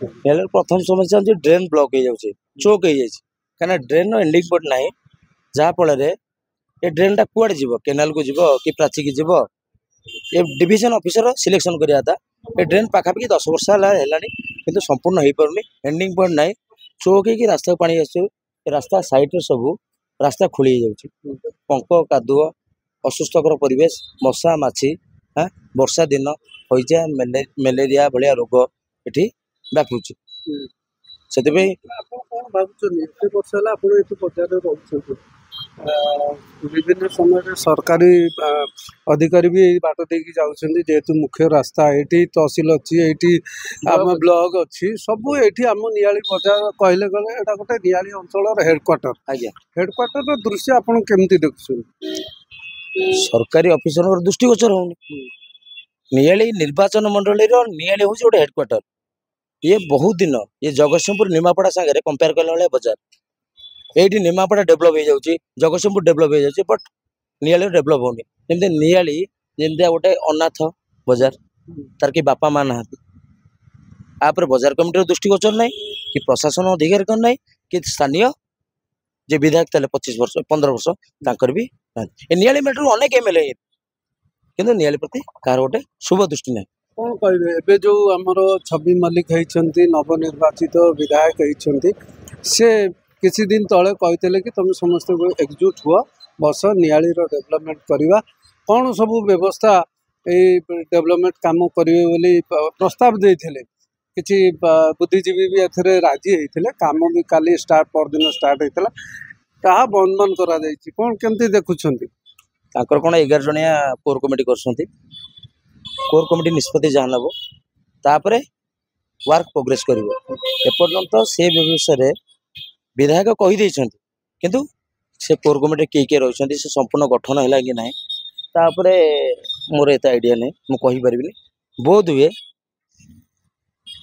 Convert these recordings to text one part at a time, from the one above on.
ନିଆଳିର ପ୍ରଥମ ସମସ୍ୟା ହେଉଛି ଡ୍ରେନ୍ ବ୍ଲକ୍ ହେଇଯାଉଛି, ଚୋକ୍ ହେଇଯାଇଛି। କାହିଁକିନା ଡ୍ରେନ୍ର ଏଣ୍ଡିଂ ପଏଣ୍ଟ ନାହିଁ, ଯାହାଫଳରେ ଏ ଡ୍ରେନ୍ଟା କୁଆଡ଼େ ଯିବ? କେନାଲକୁ ଯିବ କି ପ୍ରାଚୀକି ଯିବ? ଏ ଡିଭିଜନ ଅଫିସର ସିଲେକ୍ସନ୍ କରିବା କଥା। ଏ ଡ୍ରେନ୍ ପାଖାପାଖି 10 ବର୍ଷ ହେଲାଣି, କିନ୍ତୁ ସମ୍ପୂର୍ଣ୍ଣ ହେଇପାରୁନି। ଏଣ୍ଡିଂ ପଏଣ୍ଟ ନାହିଁ, ଚୋକ୍ ହେଇକି ରାସ୍ତାକୁ ପାଣି ଆସୁଛି। ରାସ୍ତା ସାଇଡ଼୍ରେ ସବୁ ରାସ୍ତା ଖୋଳି ହେଇଯାଉଛି, ପଙ୍କ କାଦୁଅ, ଅସୁସ୍ଥକର ପରିବେଶ, ମଶା ମାଛି। ବର୍ଷା ଦିନ ହଇଜା, ମ୍ୟାଲେରିଆ ଭଳିଆ ରୋଗ ଏଠି ବ୍ୟାପୁଛି। ସେଥିପାଇଁ ଆପଣ କ'ଣ ଭାବୁଛନ୍ତି? ଏତେ ବର୍ଷ ହେଲା ଆପଣ ଏଠି ବଜାରରେ ରହୁଛନ୍ତି, ବିଭିନ୍ନ ସମୟରେ ସରକାରୀ ଅଧିକାରୀ ବି ଏଇ ବାଟ ଦେଇକି ଯାଉଛନ୍ତି, ଯେହେତୁ ମୁଖ୍ୟ ରାସ୍ତା। ଏଇଠି ତହସିଲ ଅଛି, ଏଇଠି ଆମ ବ୍ଲକ ଅଛି, ସବୁ ଏଇଠି। ଆମ ନିଆଳି ବଜାର କହିଲେ ଗଲେ ଏଇଟା ଗୋଟେ ନିଆଳି ଅଞ୍ଚଳର ହେଡ଼କ୍ୱାର୍ଟର। ଆଜ୍ଞା, ହେଡ଼କ୍ୱାର୍ଟରର ଦୃଶ୍ୟ ଆପଣ କେମିତି ଦେଖୁଛନ୍ତି? ସରକାରୀ ଅଫିସରଙ୍କର ଦୃଷ୍ଟିଗୋଚର ହଉନି। ନିଆଳି ନିର୍ବାଚନ ମଣ୍ଡଳୀର ନିଆଳି ହେଉଛି ଗୋଟେ ହେଡ଼କ୍ୱାର୍ଟର। ଇଏ ବହୁତ ଦିନ ଇଏ ଜଗତସିଂହପୁର ନିମାପଡ଼ା ସାଙ୍ଗରେ କମ୍ପେୟାର କଲା ଭଳିଆ ବଜାର। ଏଇଠି ନିମାପଡ଼ା ଡେଭଲପ୍ ହେଇଯାଉଛି, ଜଗତସିଂହପୁର ଡେଭଲପ୍ ହେଇଯାଉଛି, ବଟ୍ ନିଆଳିର ଡେଭଲପ୍ ହଉନି। ଯେମିତି ନିଆଳି ଯେମିତିଆ ଗୋଟେ ଅନାଥ ବଜାର, ତାର କି ବାପା ମା ନାହାନ୍ତି। ତାପରେ ବଜାର କମିଟିର ଦୃଷ୍ଟିଗୋଚର ନାହିଁ କି ପ୍ରଶାସନ ଅଧିକାରୀଙ୍କର ନାହିଁ କି ସ୍ଥାନୀୟ ଯେ ବିଧାୟକ ଥିଲେ 25 ବର୍ଷ, 15 ବର୍ଷ, ତାଙ୍କର ବି ନାହାନ୍ତି। ଏ ନିଆଳି ମେଟ୍ରୋ ଅନେକ ଏମ୍ ଏଲ୍ ଏ, କିନ୍ତୁ ନିଆଳି ପ୍ରତି କାହାର ଗୋଟେ ଶୁଭ ଦୃଷ୍ଟି ନାହିଁ। କ'ଣ କହିବେ, ଏବେ ଯେଉଁ ଆମର ଛବି ମଲ୍ଲିକ ହେଇଛନ୍ତି, ନବନିର୍ବାଚିତ ବିଧାୟକ ହେଇଛନ୍ତି, ସେ କିଛି ଦିନ ତଳେ କହିଥିଲେ କି ତୁମେ ସମସ୍ତେ ଏକଜୁଟ ହୁଅ, ବସ, ନିଆଳିର ଡେଭଲପମେଣ୍ଟ କରିବା। କ'ଣ ସବୁ ବ୍ୟବସ୍ଥା ଏଇ ଡେଭଲପମେଣ୍ଟ କାମ କରିବେ ବୋଲି ପ୍ରସ୍ତାବ ଦେଇଥିଲେ। କିଛି ବୁଦ୍ଧିଜୀବୀ ବି ଏଥିରେ ରାଜି ହେଇଥିଲେ। କାମ ବି କାଲି ଷ୍ଟାର୍ଟ, ପରଦିନ ଷ୍ଟାର୍ଟ ହେଇଥିଲା, ତାହା ବନ୍ଦ ବନ୍ଦ କରାଯାଇଛି। କ'ଣ କେମିତି ଦେଖୁଛନ୍ତି? ତାଙ୍କର କ'ଣ 11 ଜଣିଆ କୋର୍ କମିଟି କରୁଛନ୍ତି। କୋର୍ କମିଟି ନିଷ୍ପତ୍ତି ଯାହା ନେବ, ତାପରେ ୱାର୍କ ପ୍ରୋଗ୍ରେସ୍ କରିବ। ଏପର୍ଯ୍ୟନ୍ତ ସେ ବିଷୟରେ ବିଧାୟକ କହିଦେଇଛନ୍ତି, କିନ୍ତୁ ସେ କୋର୍ କମିଟିରେ କିଏ କିଏ ରହିଛନ୍ତି, ସେ ସମ୍ପୂର୍ଣ୍ଣ ଗଠନ ହେଲା କି ନାହିଁ, ତାପରେ ମୋର ଏତେ ଆଇଡ଼ିଆ ନାହିଁ, ମୁଁ କହିପାରିବିନି। ବୋଧ ହୁଏ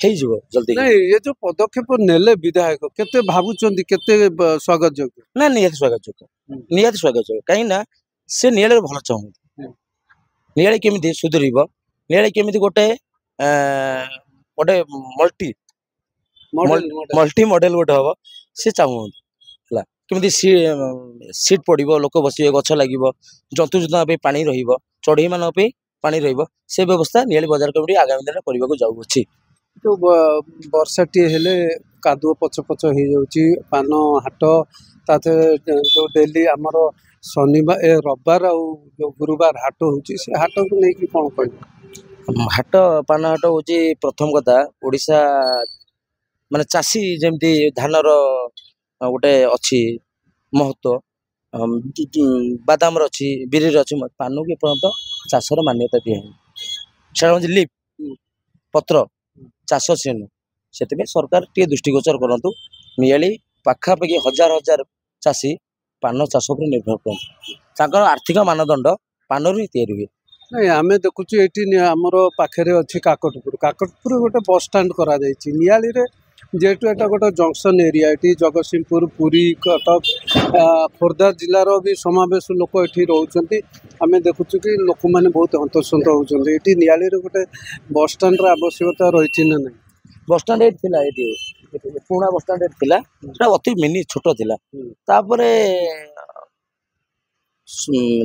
ହେଇଯିବ ଜଲ୍ଦି। ନାଇଁ, ଏ ଯୋଉ ପଦକ୍ଷେପ ନେଲେ ବିଧାୟକ, କେତେ ଭାବୁଛନ୍ତି କେତେ ସ୍ୱାଗତ ଯୋଗ୍ୟ? ନା, ନିହାତି ସ୍ୱାଗତ ଯୋଗ୍ୟ, ନିହାତି ସ୍ୱାଗତ ଯୋଗ୍ୟ। କାହିଁକି ନା ସେ ନିଆଳିରେ ଭଲ ଚାହୁଁନ୍ତି। ନିଆଳି କେମିତି ସୁଧୁରିବ, ନିଆଳି କେମିତି ଗୋଟେ ମଲ୍ଟି ମଡେଲ ଗୋଟେ ହବ, ସେ ଚାହୁଁନ୍ତି। ହେଲା କେମିତି ସିଟ୍ ପଡ଼ିବ, ଲୋକ ବସିବେ, ଗଛ ଲାଗିବ, ଜନ୍ତୁ ଜନ୍ତୁଙ୍କ ପାଇଁ ପାଣି ରହିବ, ଚଢ଼େଇମାନଙ୍କ ପାଇଁ ପାଣି ରହିବ, ସେ ବ୍ୟବସ୍ଥା ନିଆଳି ବଜାର କମିଟି ଆଗାମୀ ଦିନରେ କରିବାକୁ ଯାଉଅଛି। ଯୋଉ ବର୍ଷାଟିଏ ହେଲେ କାଦୁଅ ପଚ ପଚ ହେଇଯାଉଛି ପାନ ହାଟ। ତା ଯୋଉ ଡେଲି ଆମର ଶନିବାର, ଏ ରବିବାର ଆଉ ଯୋଉ ଗୁରୁବାର ହାଟ ହେଉଛି, ସେ ହାଟକୁ ନେଇକି କ'ଣ କହିବେ? ହାଟ, ପାନ ହାଟ ହେଉଛି ପ୍ରଥମ କଥା, ଓଡ଼ିଶା ମାନେ ଚାଷୀ ଯେମିତି ଧାନର ଗୋଟେ ଅଛି ମହତ୍ଵ, ବାଦାମର ଅଛି, ବିରିର ଅଛି, ପାନକୁ ଏପର୍ଯ୍ୟନ୍ତ ଚାଷର ମାନ୍ୟତା ଦିଆହେଇନି। ସେଟା ହେଉଛି ଲିଫ୍, ପତ୍ର ଚାଷ ସେ ନୁହଁ। ସେଥିପାଇଁ ସରକାର ଟିକେ ଦୃଷ୍ଟିଗୋଚର କରନ୍ତୁ। ନିଆଳି ପାଖାପାଖି ହଜାର ହଜାର ଚାଷୀ ପାନ ଚାଷ ଉପରେ ନିର୍ଭର କରନ୍ତି। ତାଙ୍କର ଆର୍ଥିକ ମାନଦଣ୍ଡ ପାନରୁ ହିଁ ତିଆରି ହୁଏ। ନାଇଁ, ଆମେ ଦେଖୁଛୁ ଏଇଠି ଆମର ପାଖରେ ଅଛି କାକଟପୁର। କାକଟପୁର ଗୋଟେ ବସଷ୍ଟାଣ୍ଡ କରାଯାଇଛି। ନିଆଳିରେ ଯେହେତୁ ଏଇଟା ଗୋଟେ ଜଙ୍କସନ୍ ଏରିଆ, ଏଠି ଜଗତସିଂହପୁର, ପୁରୀ, କଟକ, ଖୋର୍ଦ୍ଧା ଜିଲ୍ଲାର ବି ସମାବେଶ ଲୋକ ଏଠି ରହୁଛନ୍ତି। ଆମେ ଦେଖୁଛୁ କି ଲୋକମାନେ ବହୁତ ହନ୍ତସନ୍ତ ହେଉଛନ୍ତି। ଏଠି ନିଆଳିରେ ଗୋଟେ ବସଷ୍ଟାଣ୍ଡର ଆବଶ୍ୟକତା ରହିଛି ନା ନାହିଁ? ବସଷ୍ଟାଣ୍ଡ ଏଇଠି ଥିଲା, ଏଇଠି ପୁରୁଣା ବସଷ୍ଟାଣ୍ଡ ଏଠି ଥିଲା। ସେଟା ଅତି ମିନି ଛୋଟ ଥିଲା। ତାପରେ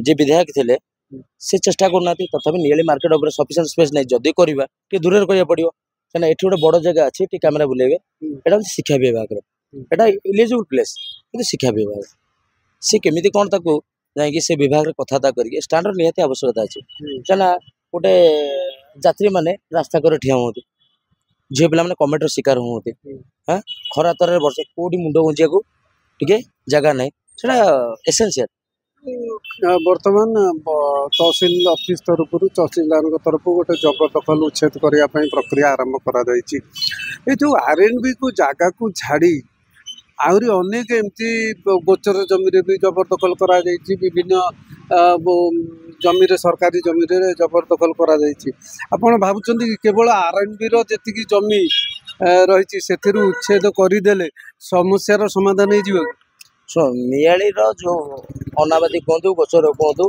ଯିଏ ବିଧାୟକ ଥିଲେ ସେ ଚେଷ୍ଟା କରୁନାହାନ୍ତି। ତଥାପି ନିଆଳି ମାର୍କେଟ ଉପରେ ସଫିସିଏଣ୍ଟ ସ୍ପେସ୍ ନାହିଁ। ଯଦି କରିବା, ଟିକେ ଦୂରରେ କରିବାକୁ ପଡ଼ିବ, କାହିଁକିନା ଏଠି ଗୋଟେ ବଡ଼ ଜାଗା ଅଛି। ଟିକେ କ୍ୟାମେରା ବୁଲେଇବେ। ଏଇଟା ହେଉଛି ଶିକ୍ଷା ବିଭାଗର, ଏଇଟା ଇଲିଜିବୁଲ୍ ପ୍ଲେସ୍, କିନ୍ତୁ ଶିକ୍ଷା ବିଭାଗ ସେ କେମିତି କ'ଣ ତାକୁ ଯାଇକି ସେ ବିଭାଗରେ କଥାବାର୍ତ୍ତା କରିକି ଷ୍ଟାଣ୍ଡର ନିହାତି ଆବଶ୍ୟକତା ଅଛି। କାହିଁକିନା ଗୋଟେ ଯାତ୍ରୀମାନେ ରାସ୍ତା କରେ ଠିଆ ହୁଅନ୍ତି, ଝିଅ ପିଲାମାନେ କମେଣ୍ଟର ଶିକାର ହୁଅନ୍ତି। ହଁ, ଖରା ତରାରେ ବର୍ଷା, କେଉଁଠି ମୁଣ୍ଡ ଗୁଞ୍ଜିବାକୁ ଟିକେ ଜାଗା ନାହିଁ। ସେଇଟା ଏସେନ୍ସିଆଲ। ବର୍ତ୍ତମାନ ତହସିଲ ଅଫିସ ତରଫରୁ, ତହସିଲଦାରଙ୍କ ତରଫରୁ ଗୋଟେ ଜବରଦଖଲ ଉଚ୍ଛେଦ କରିବା ପାଇଁ ପ୍ରକ୍ରିୟା ଆରମ୍ଭ କରାଯାଇଛି। ଏ ଯେଉଁ ଆର୍ ଏନ୍ ବିକୁ ଜାଗାକୁ ଛାଡ଼ି ଆହୁରି ଅନେକ ଏମିତି ଗୋଚର ଜମିରେ ବି ଜବରଦଖଲ କରାଯାଇଛି, ବିଭିନ୍ନ ଜମିରେ, ସରକାରୀ ଜମିରେ ଜବରଦଖଲ କରାଯାଇଛି। ଆପଣ ଭାବୁଛନ୍ତି କି କେବଳ ଆର୍ ଏନ୍ ବିର ଯେତିକି ଜମି ରହିଛି ସେଥିରୁ ଉଚ୍ଛେଦ କରିଦେଲେ ସମସ୍ୟାର ସମାଧାନ ହେଇଯିବ କି? ଶୁଣ, ନିଆଳିର ଯେଉଁ ଅନାବାଦୀ କୁହନ୍ତୁ, ଗୋଚର କୁହନ୍ତୁ,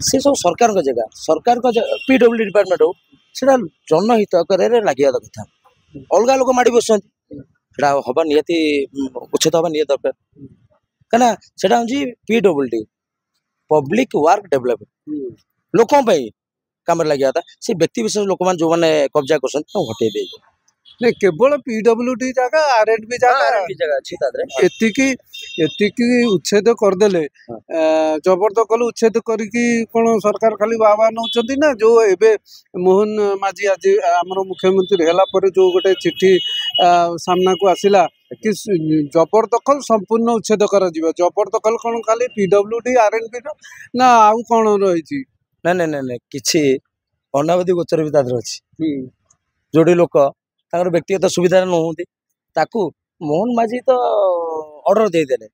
ସେ ସବୁ ସରକାରଙ୍କ ଜାଗା, ସରକାରଙ୍କ ପି ଡବ୍ଲ୍ୟୁ ଡିପାର୍ଟମେଣ୍ଟ ହଉ, ସେଇଟା ଜନହିତକରରେ ଲାଗିବା କଥା। ଅଲଗା ଲୋକ ମାଡ଼ି ବସୁଛନ୍ତି। ସେଟା ହବା ନିହାତି, ଉଚ୍ଛେଦ ହବା ନିହାତି ଦରକାର। କାହିଁକିନା ସେଟା ହେଉଛି PWD, public work development, ଲୋକଙ୍କ ପାଇଁ କାମରେ ଲାଗିବା କଥା। ସେ ବ୍ୟକ୍ତି ବିଶେଷ ଲୋକମାନେ ଯେଉଁମାନେ କବ୍ଜା କରୁଛନ୍ତି ତାଙ୍କୁ ହଟେଇ ଦେଇଯିବ। ନାଇଁ, କେବଳ ପିଡବ୍ଲ୍ୟୁଡି ଜାଗା, ଆର୍ ଏଣ୍ଡ ବି ଜାଗା ଜାଗା ଅଛି ତା ଦେହରେ। ଏତିକି ଏତିକି ଉଚ୍ଛେଦ କରିଦେଲେ, ଜବରଦଖଲ ଉଚ୍ଛେଦ କରିକି କ'ଣ ସରକାର ଖାଲି ବା ବା ନେଉଛନ୍ତି ନା? ଯୋଉ ଏବେ ମୋହନ ମାଝୀ ଆଜି ଆମର ମୁଖ୍ୟମନ୍ତ୍ରୀ ହେଲା ପରେ ଯୋଉ ଗୋଟେ ଚିଠି ସାମ୍ନାକୁ ଆସିଲା କି ଜବରଦଖଲ ସମ୍ପୂର୍ଣ୍ଣ ଉଚ୍ଛେଦ କରାଯିବ, ଜବରଦଖଲ କ'ଣ ଖାଲି ପିଡବ୍ଲ୍ୟୁଡି ଆର୍ ଏଣ୍ଡ ବି ର ନା ଆଉ କ'ଣ ରହିଛି? ନାଇଁ ନାଇଁ ନାଇଁ ନାଇଁ, କିଛି ଅନାବାଦୀ ଗୋଚର ବି ତା ଦେହରେ ଅଛି, ଯୋଉଠି ଲୋକ ତାଙ୍କର ବ୍ୟକ୍ତିଗତ ସୁବିଧାରେ ନୁହନ୍ତି। ତାକୁ ମୋହନ ମାଝୀ ତ ଅର୍ଡର ଦେଇଦେଲେ,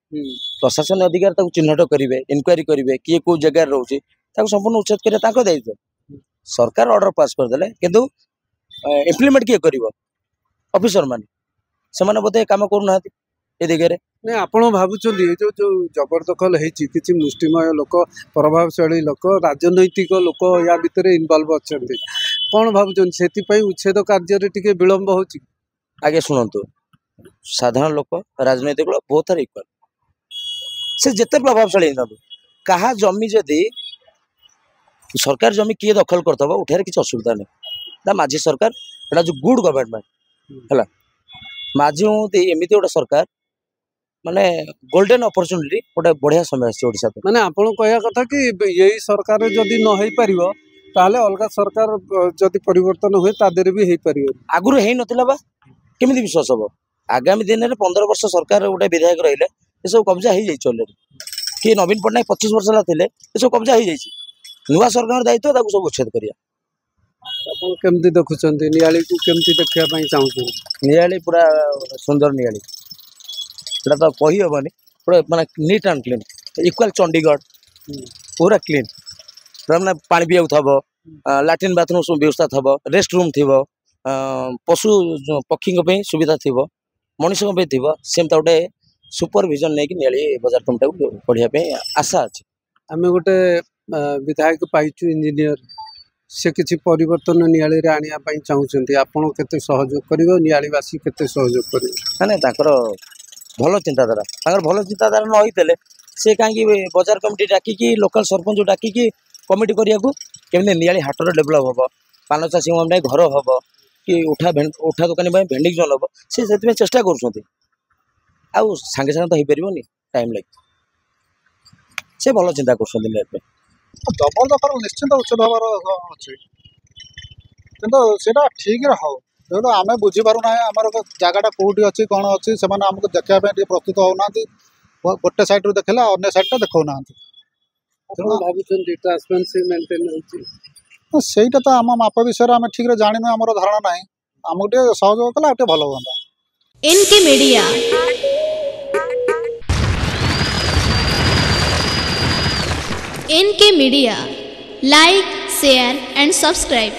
ପ୍ରଶାସନ ଅଧିକାରୀ ତାକୁ ଚିହ୍ନଟ କରିବେ, ଇନକ୍ୱାରି କରିବେ କିଏ କୋଉ ଜାଗାରେ ରହୁଛି, ତାକୁ ସମ୍ପୂର୍ଣ୍ଣ ଉଚ୍ଛେଦ କରିବା ତାଙ୍କ ଦାୟିତ୍ୱ। ସରକାର ଅର୍ଡର ପାସ୍ କରିଦେଲେ, କିନ୍ତୁ ଇମ୍ପ୍ଲିମେଣ୍ଟ କିଏ କରିବ? ଅଫିସର ମାନେ। ସେମାନେ ବୋଧେ କାମ କରୁନାହାନ୍ତି ଏ ଦିଗରେ। ନାଇଁ, ଆପଣ ଭାବୁଛନ୍ତି ଏ ଯୋଉ ଯୋଉ ଜବରଦଖଲ ହେଇଛି, କିଛି ମୁଷ୍ଟିମୟ ଲୋକ, ପ୍ରଭାବଶାଳୀ ଲୋକ, ରାଜନୈତିକ ଲୋକ ୟା ଭିତରେ ଇନଭଲ୍ଭ ଅଛନ୍ତି, କ'ଣ ଭାବୁଛନ୍ତି ସେଥିପାଇଁ ଉଚ୍ଛେଦ କାର୍ଯ୍ୟରେ ଟିକେ ବିଳମ୍ବ ହେଉଛି? ଆଜ୍ଞା ଶୁଣନ୍ତୁ, ସାଧାରଣ ଲୋକ, ରାଜନୈତିକ ଲୋକ ବୋଥ୍ ଆର୍ ଇକ୍ୱାଲ୍। ସେ ଯେତେ ପ୍ରଭାବଶାଳୀ ହେଇଥାନ୍ତୁ, କାହା ଜମି ଯଦି ସରକାର ଜମି କିଏ ଦଖଲ କରିଥିବ, ଉଠାଇବାରେ କିଛି ଅସୁବିଧା ନାହିଁ ନା। ମାଝୀ ସରକାର ଏଇଟା ଯେଉଁ ଗୁଡ୍ ଗଭର୍ଣ୍ଣମେଣ୍ଟ ହେଲା, ମାଝୀ ହୁଅନ୍ତି ଏମିତି ଗୋଟେ ସରକାର, ମାନେ ଗୋଲ୍ଡେନ୍ ଅପରଚୁନିଟି, ଗୋଟେ ବଢ଼ିଆ ସମୟ ଆସିଛି ଓଡ଼ିଶା ପାଇଁ। ମାନେ ଆପଣ କହିବା କଥା କି ଏଇ ସରକାର ଯଦି ନ ହେଇପାରିବ, ତାହେଲେ ଅଲଗା ସରକାର ଯଦି ପରିବର୍ତ୍ତନ ହୁଏ ତା ଦେହରେ ବି ହେଇପାରିବ? ଆଗରୁ ହେଇନଥିଲା ବା, କେମିତି ବିଶ୍ୱାସ ହବ? ଆଗାମୀ ଦିନରେ 15 ବର୍ଷ ସରକାର ଗୋଟେ ବିଧାୟକ ରହିଲେ ଏସବୁ କବ୍ଜା ହେଇଯାଇଛି ଅଲରେଡି। କି ନବୀନ ପଟ୍ଟନାୟକ 25 ବର୍ଷ ହେଲା ଥିଲେ, ଏସବୁ କବ୍ଜା ହେଇଯାଇଛି। ନୂଆ ସରକାରଙ୍କ ଦାୟିତ୍ୱ ତାକୁ ସବୁ ଉଚ୍ଛେଦ କରିବା। ଆପଣ କେମିତି ଦେଖୁଛନ୍ତି ନିଆଳିକୁ, କେମିତି ଦେଖିବା ପାଇଁ ଚାହୁଁଛନ୍ତି? ନିଆଳି ପୁରା ସୁନ୍ଦର ନିଆଳି, ସେଟା ତ କହିହେବନି, ପୁରା ମାନେ neat and clean, equal Chandigarh, ପୁରା କ୍ଲିନ୍, ପୁରା ମାନେ ପାଣି ପିଇବାକୁ ଥବ, ଲାଟ୍ରିନ୍ ବାଥରୁମ୍ ସବୁ ବ୍ୟବସ୍ଥା ଥବ, ରେଷ୍ଟ ରୁମ୍ ଥିବ, ପଶୁ ପକ୍ଷୀଙ୍କ ପାଇଁ ସୁବିଧା ଥିବ, ମଣିଷଙ୍କ ପାଇଁ ଥିବ। ସେମିତି ଗୋଟେ ସୁପରଭିଜନ ନେଇକି ନିଆଳି ବଜାର କମିଟିକୁ ବଢ଼ିବା ପାଇଁ ଆଶା ଅଛି। ଆମେ ଗୋଟେ ବିଧାୟକ ପାଇଛୁ ଇଞ୍ଜିନିୟର, ସେ କିଛି ପରିବର୍ତ୍ତନ ନିଆଳିରେ ଆଣିବା ପାଇଁ ଚାହୁଁଛନ୍ତି। ଆପଣ କେତେ ସହଯୋଗ କରିବେ, ନିଆଳିବାସୀ କେତେ ସହଯୋଗ କରିବେ? ନାଇଁ ନାଇଁ, ତାଙ୍କର ଭଲ ଚିନ୍ତାଧାରା। ତାଙ୍କର ଭଲ ଚିନ୍ତାଧାରା ନ ହେଇଥିଲେ ସେ କାହିଁକି ବଜାର କମିଟି ଡାକିକି, ଲୋକାଲ ସରପଞ୍ଚ ଡାକିକି କମିଟି କରିବାକୁ, କେମିତି ନିଆଳି ହାଟର ଡେଭଲପ୍ ହେବ, ପାନ ଚାଷୀଙ୍କ ପାଇଁ ଘର ହେବ କି ଉଠା ଉଠା ଦୋକାନୀ ପାଇଁ ଭେଣ୍ଡିଂ ଜୋନ୍ ହେବ, ସେ ସେଥିପାଇଁ ଚେଷ୍ଟା କରୁଛନ୍ତି। ଆଉ ସାଙ୍ଗେ ସାଙ୍ଗେ ତ ହେଇପାରିବନି, ଟାଇମ୍ ଲାଗିବ। ସେ ଭଲ ଚିନ୍ତା କରୁଛନ୍ତି ନିଆଳି ପାଇଁ। ଜବରଦଖଲ ନିଶ୍ଚିନ୍ତ ଉଚ୍ଛେଦ ହେବାର ଅଛି, କିନ୍ତୁ ସେଇଟା ଠିକରେ ହଉ। ତେଣୁ ଆମେ ବୁଝିପାରୁନାହିଁ ଆମର ଜାଗାଟା କେଉଁଠି ଅଛି, କ'ଣ ଅଛି। ସେମାନେ ଆମକୁ ଦେଖିବା ପାଇଁ ଟିକେ ପ୍ରସ୍ତୁତ ହେଉନାହାନ୍ତି। ଗୋଟେ ସାଇଡ଼ରୁ ଦେଖିଲେ ଅନ୍ୟ ସାଇଡ଼ଟା ଦେଖାଉନାହାନ୍ତି। ଆପଣ ଭାବୁଛନ୍ତି ଟ୍ରାନ୍ସପେରେନ୍ସି ମେଣ୍ଟେନ୍ ହେଉଛି? ସେଇଟା ତ ଆମ ମାପ ବିଷୟରେ ଆମେ ଠିକରେ ଜାଣିନୁ, ଆମର ଧାରଣା ନାହିଁ। ଆମକୁ ଟିକେ ସହଯୋଗ କଲେ ଆଉ ଟିକେ ଭଲ ହୁଅନ୍ତା। NK media, NK media, like, share and subscribe.